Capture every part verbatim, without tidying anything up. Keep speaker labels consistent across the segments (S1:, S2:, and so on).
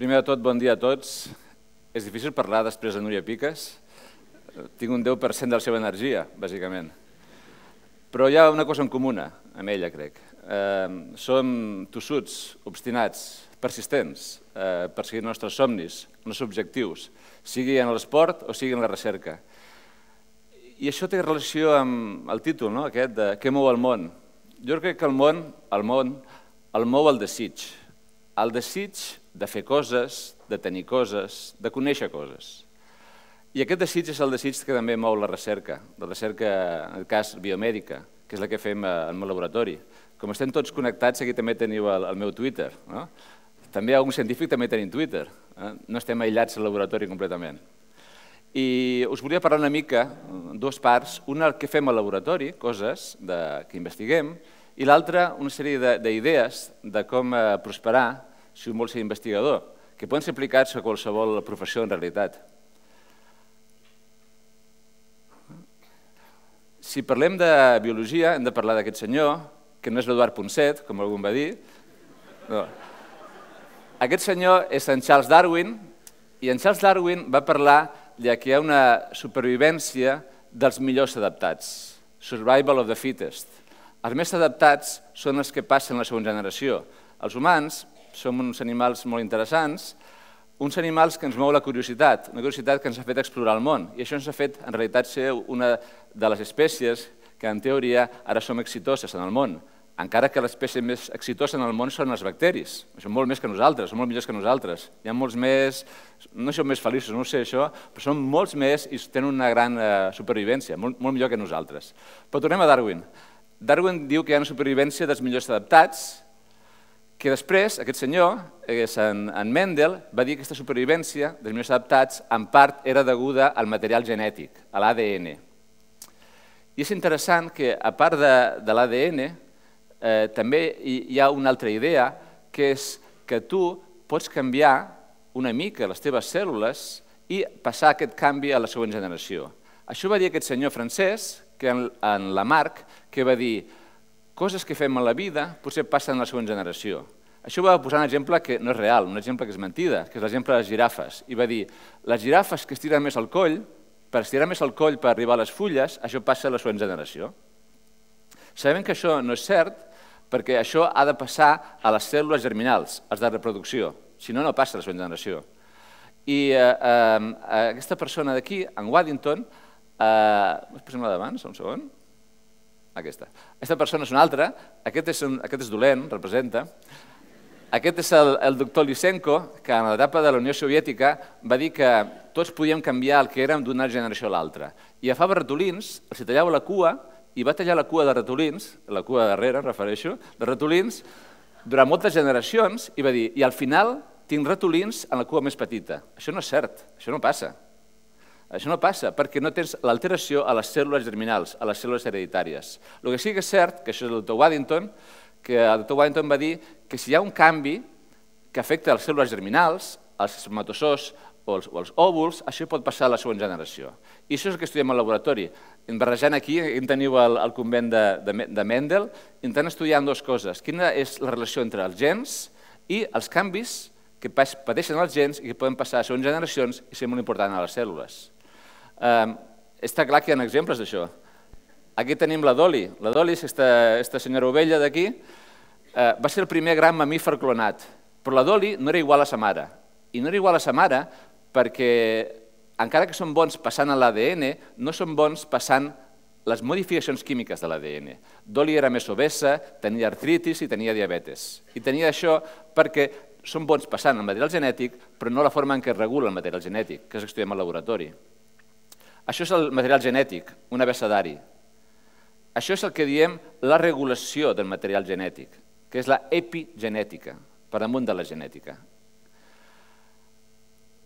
S1: Primer de tot, bon dia a tots. És difícil parlar després de Núria Piques. Tinc un deu per cent de la seva energia, bàsicament. Però hi ha una cosa en comuna amb ella, crec. Som tossuts, obstinats, persistents, perseguint els nostres somnis, els nostres objectius, sigui en l'esport o sigui en la recerca. I això té relació amb el títol, aquest de què mou el món. Jo crec que el món, el món, el mou el desig. El desig de fer coses, de tenir coses, de conèixer coses. I aquest desig és el desig que també mou la recerca, la recerca, en el cas biomèdica, que és la que fem al meu laboratori. Com estem tots connectats, aquí també teniu el meu Twitter. També algun científic també tenim Twitter. No estem aïllats al laboratori completament. I us volia parlar una mica, dues parts, una el que fem al laboratori, coses que investiguem, i l'altra una sèrie d'idees de com prosperar si un vol ser investigador, que poden ser aplicats a qualsevol professió en realitat. Si parlem de biologia, hem de parlar d'aquest senyor, que no és l'Eduard Ponset, com algú va dir. Aquest senyor és en Charles Darwin, i en Charles Darwin va parlar que hi ha una supervivència dels millors adaptats, survival of the fittest. Els més adaptats són els que passen a la següent generació. Els humans som uns animals molt interessants, uns animals que ens mou la curiositat, una curiositat que ens ha fet explorar el món, i això ens ha fet, en realitat, ser una de les espècies que, en teoria, ara som exitoses en el món, encara que l'espècie més exitosa en el món són els bacteris. Són molt més que nosaltres, són molt millors que nosaltres. Hi ha molts més, no són més feliços, no ho sé això, però són molts més i tenen una gran supervivència, molt millor que nosaltres. Però tornem a Darwin. Darwin diu que hi ha una supervivència dels millors adaptats, que després, aquest senyor, en Mendel, va dir que aquesta supervivència dels millors adaptats en part era deguda al material genètic, a l'A D N. I és interessant que, a part de l'A D N, també hi ha una altra idea, que és que tu pots canviar una mica les teves cèl·lules i passar aquest canvi a la següent generació. Això va dir aquest senyor francès, en Lamarck, que va dir coses que fem a la vida potser passen a la següent generació. Això va posar un exemple que no és real, un exemple que és mentida, que és l'exemple de les girafes. I va dir, les girafes que estiren més el coll, per estirar més el coll per arribar a les fulles, això passa a la següent generació. Sabem que això no és cert, perquè això ha de passar a les cèl·lules germinals, als de reproducció, si no, no passa a la següent generació. I aquesta persona d'aquí, en Waddington, posem-la d'abans, un segon. Aquesta. Aquesta persona és una altra, aquest és dolent, representa. Aquest és el doctor Lysenko, que en l'etapa de la Unió Soviètica va dir que tots podíem canviar el que érem d'una generació a l'altra. I agafava ratolins, els tallava la cua, i va tallar la cua de ratolins, la cua darrere, em refereixo, de ratolins, durant moltes generacions, i va dir, i al final tinc ratolins en la cua més petita. Això no és cert, això no passa. Això no passa perquè no tens l'alteració a les cèl·lules germinals, a les cèl·lules hereditàries. El que sí que és cert, que això és el doctor Waddington, que el doctor Waddington va dir que si hi ha un canvi que afecta les cèl·lules germinals, els espermatozoos o els òvuls, això pot passar a la següent generació. I això és el que estudiem al laboratori. Barrejant aquí, aquí teniu el convent de Mendel, intentant estudiar dues coses. Quina és la relació entre els gens i els canvis que pateixen els gens i que poden passar a següents generacions i ser molt important a les cèl·lules. Està clar que hi ha exemples d'això. Aquí tenim la Dolly. La Dolly és aquesta senyora ovella d'aquí. Va ser el primer gran mamífer clonat, però la Dolly no era igual a sa mare. I no era igual a sa mare perquè, encara que són bons passant a l'A D N, no són bons passant les modificacions químiques de l'A D N. Dolly era més obesa, tenia artritis i tenia diabetes. I tenia això perquè són bons passant el material genètic, però no la forma en què es regula el material genètic, que és el que estudiem al laboratori. Això és el material genètic, un abecedari. Això és el que diem la regulació del material genètic, que és la epigenètica, per damunt de la genètica.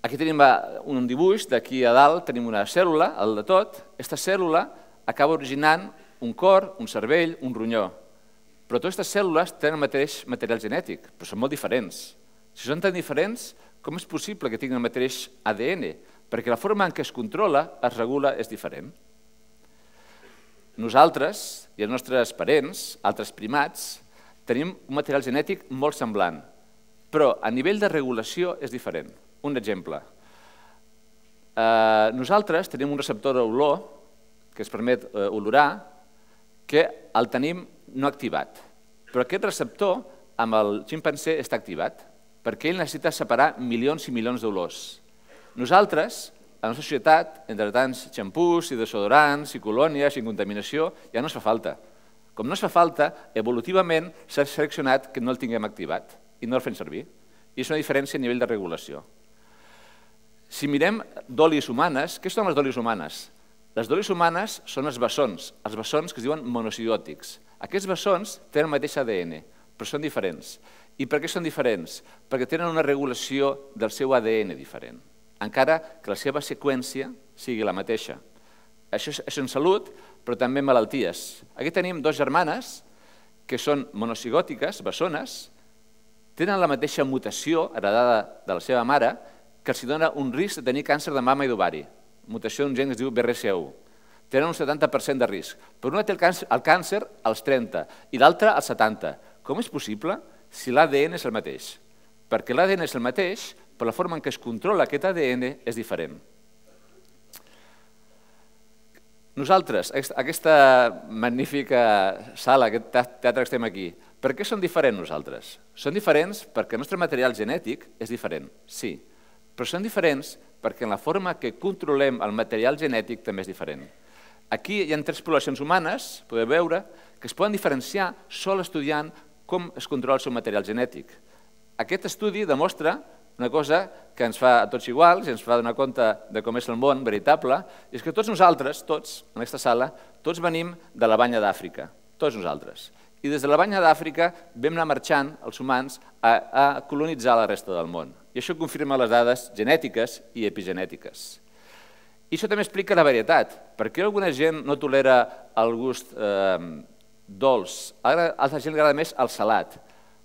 S1: Aquí tenim un dibuix, d'aquí a dalt tenim una cèl·lula, el de tot. Aquesta cèl·lula acaba originant un cor, un cervell, un ronyó. Però totes aquestes cèl·lules tenen el mateix material genètic, però són molt diferents. Si són tan diferents, com és possible que tinguin el mateix A D N? Perquè la forma en què es controla, es regula, és diferent. Nosaltres i els nostres parents, altres primats, tenim un material genètic molt semblant, Però a nivell de regulació és diferent. Un exemple. Eh, nosaltres tenim un receptor d'olor que ens permet eh, olorar, que el tenim no activat. Però aquest receptor amb el ximpanzé està activat, perquè ell necessita separar milions i milions d'olors. Nosaltres, a la nostra societat, entre tants xampús i desodorants i colònies i contaminació, ja no es fa falta. Com no es fa falta, evolutivament s'ha seleccionat que no el tinguem activat i no el fem servir. I és una diferència a nivell de regulació. Si mirem d'olis humanes, què són les d'olis humanes? Les d'olis humanes són els bessons, els bessons que es diuen monociòtics. Aquests bessons tenen el mateix A D N, però són diferents. I per què són diferents? Perquè tenen una regulació del seu A D N diferent, encara que la seva seqüència sigui la mateixa. Això és en salut, però també en malalties. Aquí tenim dues germanes que són monocigòtiques, bessones, tenen la mateixa mutació heredada de la seva mare que els dona un risc de tenir càncer de mama i d'ovari. Mutació d'un gen que es diu B R C A u. Tenen un setanta per cent de risc. Però una té el càncer als trenta i l'altra als setanta. Com és possible si l'A D N és el mateix? Perquè l'A D N és el mateix, però la forma en què es controla aquest A D N és diferent. Nosaltres, aquesta magnífica sala, aquest teatre que estem aquí, per què som diferents nosaltres? Són diferents perquè el nostre material genètic és diferent, sí, però són diferents perquè en la forma que controlem el material genètic també és diferent. Aquí hi ha tres poblacions humanes, podeu veure, que es poden diferenciar sol estudiant com es controla el seu material genètic. Aquest estudi demostra una cosa que ens fa a tots iguals i ens fa donar compte de com és el món veritable, és que tots nosaltres, tots, en aquesta sala, tots venim de la banya d'Àfrica, tots nosaltres. I des de la banya d'Àfrica vam anar marxant, els humans, a colonitzar la resta del món. I això confirma les dades genètiques i epigenètiques. I això també explica la varietat. Per què alguna gent no tolera el gust dolç? A altra gent li agrada més el salat.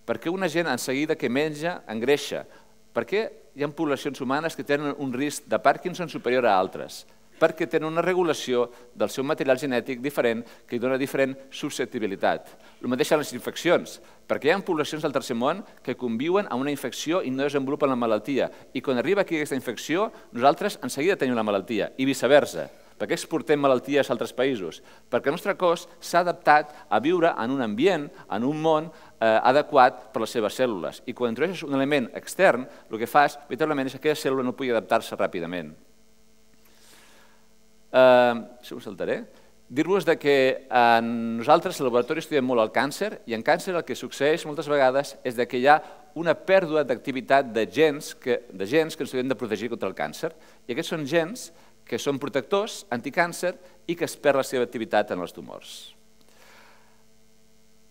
S1: Per què una gent en seguida que menja engreixa? Per què hi ha poblacions humanes que tenen un risc de Parkinson superior a altres? Perquè tenen una regulació del seu material genètic diferent que hi dona diferent susceptibilitat. El mateix en les infeccions, perquè hi ha poblacions del tercer món que conviuen amb una infecció i no desenvolupen la malaltia. I quan arriba aquí aquesta infecció, nosaltres en seguida tenim la malaltia, i viceversa. Per què exportem malalties a altres països? Perquè el nostre cos s'ha adaptat a viure en un ambient, en un món adequat per les seves cèl·lules. I quan introdueixes un element extern, el que fas, veritablement, és que aquella cèl·lula no pugui adaptar-se ràpidament. Això ho saltaré. Dir-vos que nosaltres al laboratori estudiem molt el càncer i en càncer el que succeeix moltes vegades és que hi ha una pèrdua d'activitat de gens que ens hauríem de protegir contra el càncer. I aquests són gens que són protectors, anticàncer, i que es perd la seva activitat en els tumors.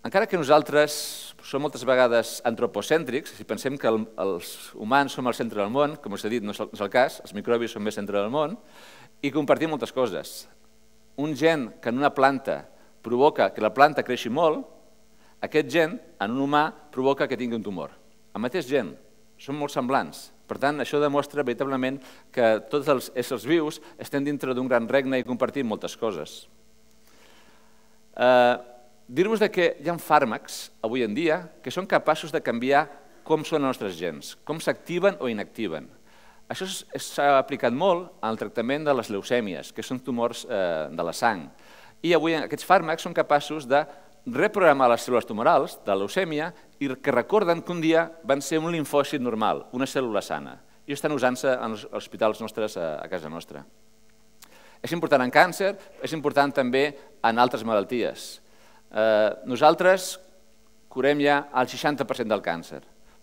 S1: Encara que nosaltres som moltes vegades antropocèntrics, si pensem que els humans som al centre del món, com us he dit, no és el cas, els microbis són més centre del món, i compartim moltes coses. Un gen que en una planta provoca que la planta creixi molt, aquest gen en un humà provoca que tingui un tumor. El mateix gen, són molt semblants. Per tant, això demostra veritablement que tots els éssers vius estem dintre d'un gran regne i compartim moltes coses. Dir-vos que hi ha fàrmacs avui en dia que són capaços de canviar com són els nostres gens, com s'activen o inactiven. Això s'ha aplicat molt en el tractament de les leucèmies, que són tumors de la sang. I avui aquests fàrmacs són capaços de reprogramar les cèl·lules tumorals de la leucèmia i que recorden que un dia van ser un limfòcit normal, una cèl·lula sana. I estan usant-se als hospitals nostres a casa nostra. És important en càncer, és important també en altres malalties. Nosaltres curem ja el seixanta per cent del càncer,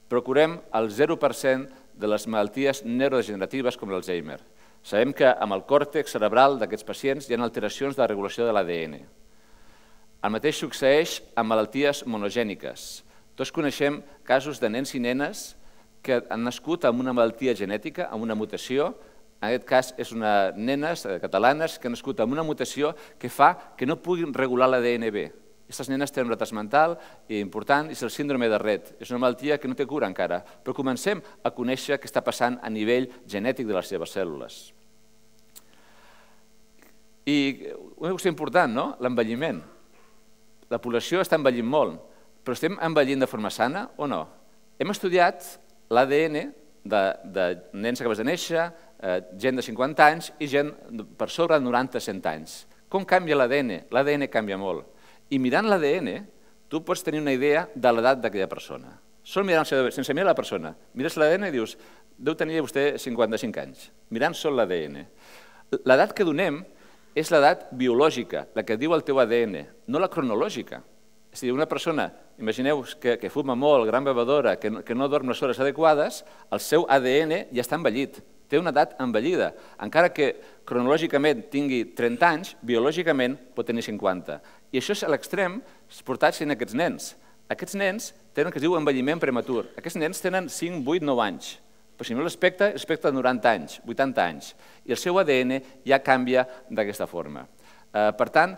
S1: però curem el zero per cent de les malalties neurodegeneratives com l'Alzheimer. Sabem que amb el còrtex cerebral d'aquests pacients hi ha alteracions de la regulació de l'A D N. El mateix succeeix amb malalties monogèniques. Tots coneixem casos de nens i nenes que han nascut amb una malaltia genètica, amb una mutació. En aquest cas, és una nenes catalanes que han nascut amb una mutació que fa que no puguin regular l'A D N bé. Aquestes nenes tenen un retard mental important i és el síndrome de Rett. És una malaltia que no té cura encara, però comencem a conèixer què està passant a nivell genètic de les seves cèl·lules. I una qüestió important, no? L'envelliment. La població està envellint molt, però estem envellint de forma sana o no? Hem estudiat l'A D N de nens que acabes de néixer, gent de cinquanta anys i gent per sobre de noranta a cent anys. Com canvia l'A D N? L'A D N canvia molt. I mirant l'A D N, tu pots tenir una idea de l'edat d'aquella persona. Sol mirant, sense mirar la persona. Mires l'A D N i dius, deu tenir vostè cinquanta-cinc anys. Mirant sol l'A D N. L'edat que donem és l'edat biològica, la que diu el teu A D N, no la cronològica. És a dir, una persona, imagineu que fuma molt, gran bevedora, que no dorm les hores adequades, el seu A D N ja està envellit, té una edat envellida. Encara que cronològicament tingui trenta anys, biològicament pot tenir cinquanta. I això és a l'extrem portats en aquests nens. Aquests nens tenen el que es diu envelliment prematur. Aquests nens tenen cinc, vuit, nou anys. Però si no l'aspecte, l'aspecte de noranta anys, vuitanta anys. I el seu A D N ja canvia d'aquesta forma. Per tant,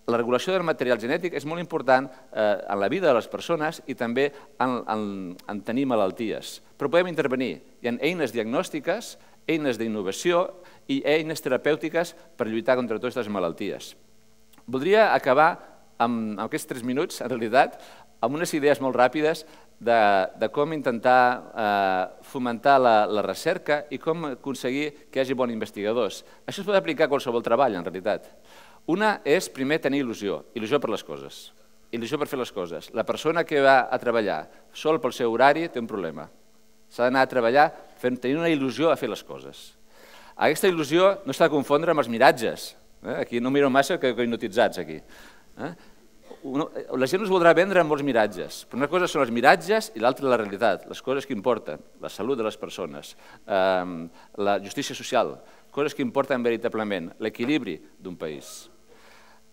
S1: la regulació del material genètic és molt important en la vida de les persones i també en tenir malalties. Però podem intervenir. Hi ha eines diagnòstiques, eines d'innovació i eines terapèutiques per lluitar contra totes les malalties. Voldria acabar amb aquests tres minuts, en realitat, amb unes idees molt ràpides de com intentar fomentar la recerca i com aconseguir que hi hagi bons investigadors. Això es pot aplicar a qualsevol treball, en realitat. Una és, primer, tenir il·lusió, il·lusió per les coses, il·lusió per fer les coses. La persona que va a treballar sol pel seu horari té un problema. S'ha d'anar a treballar tenint una il·lusió a fer les coses. Aquesta il·lusió no s'ha de confondre amb els miratges. Aquí no miro massa que hipnotitzats, aquí. La gent us voldrà vendre amb molts miratges, però una cosa són els miratges i l'altra la realitat, les coses que importen, la salut de les persones, la justícia social, coses que importen veritablement, l'equilibri d'un país.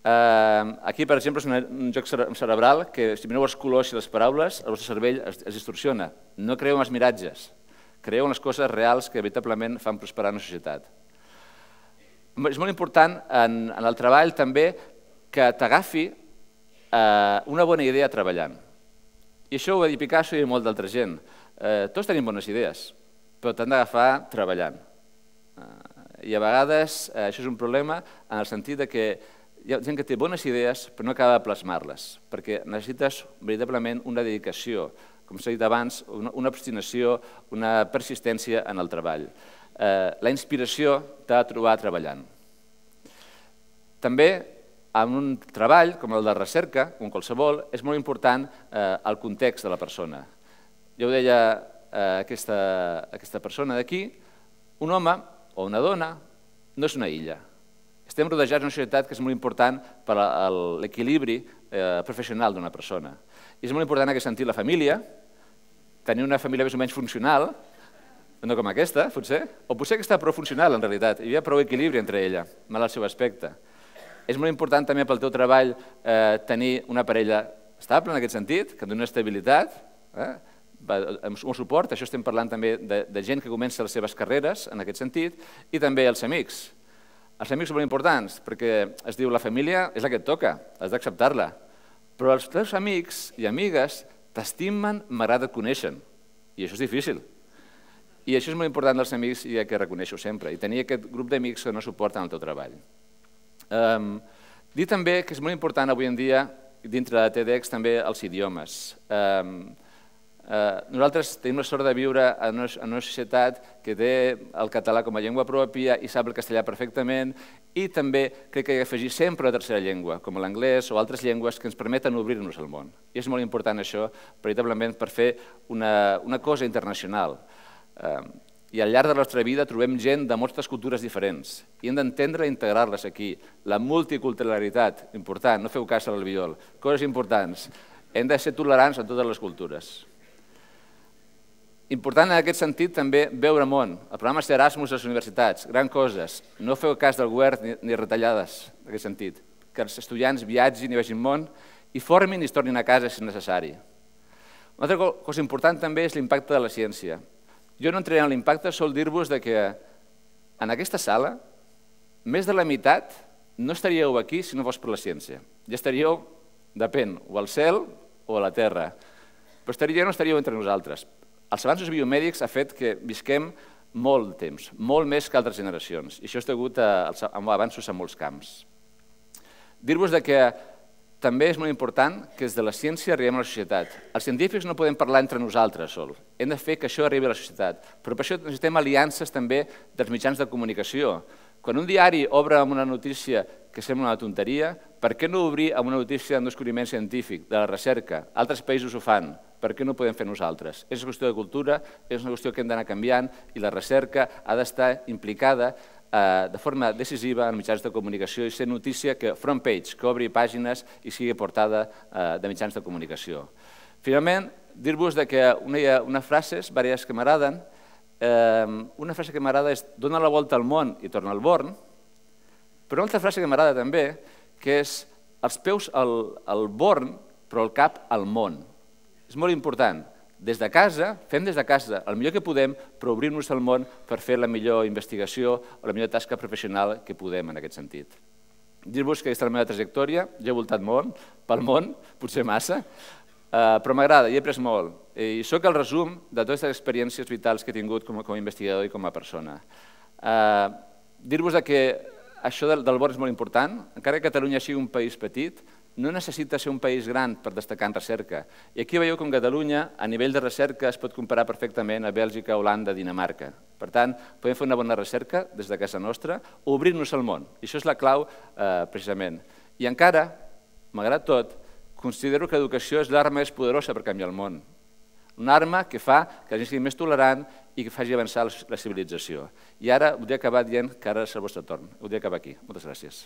S1: Aquí, per exemple, és un joc cerebral que, si mireu els colors i les paraules, el vostre cervell es distorsiona. No creieu en els miratges, creieu en les coses reals que veritablement fan prosperar una societat. És molt important en el treball també que t'agafi una bona idea treballant. I això ho va dir Picasso i molt d'altra gent. Tots tenim bones idees, però t'han d'agafar treballant. I a vegades això és un problema en el sentit que hi ha gent que té bones idees però no acaba de plasmar-les, perquè necessites veritablement una dedicació, com s'ha dit abans, una obstinació, una persistència en el treball. La inspiració t'ha de trobar treballant. També, en un treball com el de recerca, com qualsevol, és molt important el context de la persona. Ja ho deia aquesta persona d'aquí, un home o una dona no és una illa. Estem rodejats d'una societat que és molt important per a l'equilibri professional d'una persona. I és molt important en aquest sentit la família, tenir una família més o menys funcional, no com aquesta, potser, o potser que està prou funcional en realitat, hi havia prou equilibri entre ella, mal al seu aspecte. És molt important també pel teu treball tenir una parella estable en aquest sentit, que doni estabilitat, amb suport, això estem parlant també de gent que comença les seves carreres en aquest sentit, i també els amics. Els amics són molt importants, perquè es diu la família és la que et toca, has d'acceptar-la. Però els teus amics i amigues t'estimen malgrat et coneixen, i això és difícil. I això és molt important dels amics i que reconeixo sempre, i tenir aquest grup d'amics que no suporten el teu treball. Dir també que és molt important avui en dia, dintre de TEDx, també els idiomes. Nosaltres tenim la sort de viure en una societat que té el català com a llengua pròpia i sap el castellà perfectament i també crec que hi ha d'afegir sempre una tercera llengua, com l'anglès o altres llengües que ens permeten obrir-nos al món. I és molt important això, veritablement, per fer una cosa internacional. I al llarg de la nostra vida trobem gent de moltes cultures diferents i hem d'entendre i integrar-les aquí. La multiculturalitat, important, no feu cas a l'albiol, coses importants. Hem de ser tolerants en totes les cultures. Important en aquest sentit també veure món. El programa Erasmus a les universitats, grans coses. No feu cas del govern ni retallades en aquest sentit. Que els estudiants viatgin i vegin món i formin i es tornin a casa si és necessari. Una altra cosa important també és l'impacte de la ciència. Jo no entraré en l'impacte, sol dir-vos que en aquesta sala més de la meitat no estaríeu aquí si no fos per la ciència. Ja estaríeu, depèn, o al cel o a la terra. Però estaríeu o no estaríeu entre nosaltres. Els avanços biomèdics ha fet que visquem molt temps, molt més que altres generacions, i això és degut a avanços en molts camps. Dir-vos que també és molt important que des de la ciència arribem a la societat. Els científics no podem parlar entre nosaltres sols, hem de fer que això arribi a la societat, però per això necessitem aliances també dels mitjans de comunicació. Quan un diari obre amb una notícia que sembla una tonteria, per què no obrir amb una notícia d'un descobriment científic, de la recerca? Altres països ho fan, per què no ho podem fer nosaltres? És una qüestió de cultura, és una qüestió que hem d'anar canviant i la recerca ha d'estar implicada de forma decisiva en mitjans de comunicació i ser notícia que front page, que obri pàgines i sigui portada de mitjans de comunicació. Finalment, dir-vos que hi ha unes frases, diverses que m'agraden. Una frase que m'agrada és dona la volta al món i torna al Born, però una altra frase que m'agrada també, que és els peus al Born, però el cap al món. És molt important. Des de casa, fem des de casa el millor que podem, però obrim-nos al món per fer la millor investigació o la millor tasca professional que podem en aquest sentit. Dir-vos que aquesta és la meva trajectòria, jo he voltat molt pel món, potser massa, però m'agrada i he après molt. I soc el resum de totes les experiències vitals que he tingut com a investigador i com a persona. Dir-vos que això del Born és molt important, encara que Catalunya sigui un país petit, no necessita ser un país gran per destacar en recerca. I aquí veieu com Catalunya, a nivell de recerca, es pot comparar perfectament a Bèlgica, Holanda, Dinamarca. Per tant, podem fer una bona recerca des de casa nostra o obrir-nos al món. I això és la clau, precisament. I encara, malgrat tot, considero que l'educació és l'arma més poderosa per canviar el món. Una arma que fa que la gent sigui més tolerant i que faci avançar la civilització. I ara voldria acabar dient que ara és el vostre torn. Voldria acabar aquí. Moltes gràcies.